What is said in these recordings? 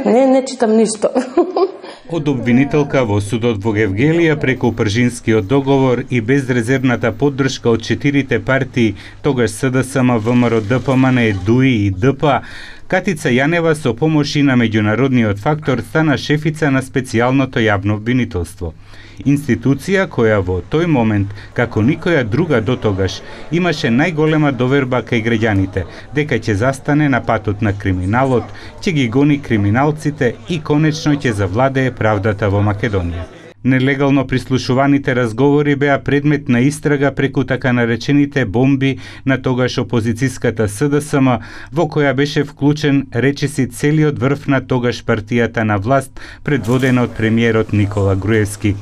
Не читам ништо. Од обвинителка во судот во Гевгелија преку Пржинскиот договор и безрезервната поддршка од 4 партии, тогаш СДСМ, ВМРО, ДПМН, ДУИ и ДП, Катица Јанева со помош и на меѓународниот фактор стана шефица на специјалното јавно обвинителство. Институција која во тој момент, како никоја друга дотогаш, имаше најголема доверба кај граѓаните, дека ќе застане на патот на криминалот, ќе ги гони криминалците и конечно ќе завладее правдата во Македонија. Нелегално прислушуваните разговори беа предмет на истрага преку така наречените бомби на тогаш опозицијската СДСМ, во која беше вклучен речиси целиот врв на тогаш партијата на власт, предводена од премиерот Никола Груевски.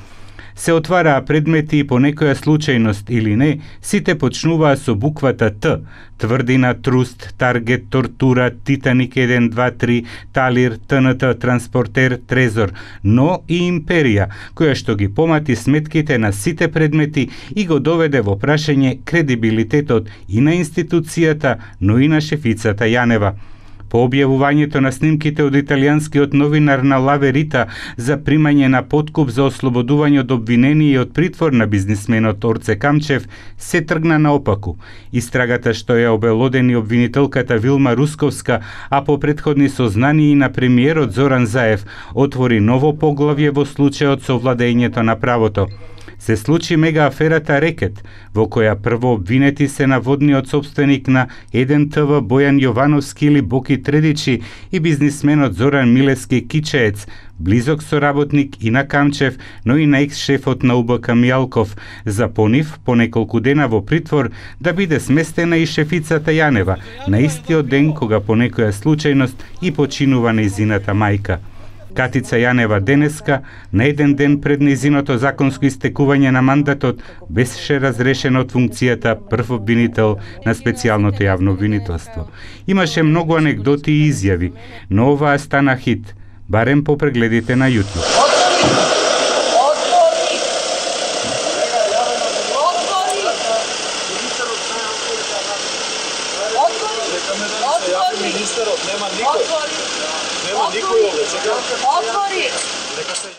Се отвараа предмети и по некоја случајност или не, сите почнуваа со буквата Т: Тврдина, Труст, Таргет, Тортура, Титаник 1, 2, 3, Талир, ТНТ, Транспортер, Трезор, но и Империја, која што ги помати сметките на сите предмети и го доведе во прашање кредибилитетот и на институцијата, но и на шефицата Јанева. По објавувањето на снимките од италијанскиот новинар на Ла Верита за примање на подкуп за ослободување од обвинение и од притвор на бизнисменот Орце Камчев, се тргна наопаку. Истрагата што ја обелодени обвинителката Вилма Русковска, а по претходни сознанија и на премиерот Зоран Заев, отвори ново поглавје во случајот со владењето на правото. Се случи мега аферата Рекет, во која прво обвинети се наводниот собственик на 1ТВ Бојан Јовановски или Боки Тредичи и бизнисменот Зоран Милевски Кичеец, близок соработник и на Камчев, но и на екс-шефот на УБК Мијалков, за понив по неколку дена во притвор да биде сместена и шефицата Јанева, на истиот ден кога по некоја случајност и починува нејзината мајка. Катица Јанева денеска, на еден ден пред нејзиното законско истекување на мандатот, беше разрешена од функцијата прв обвинител на специјалното јавно обвинителство. Имаше многу анегдоти и изјави, но оваа стана хит, барем по прегледите на YouTube. Нема никој овде, чекам. Отвори!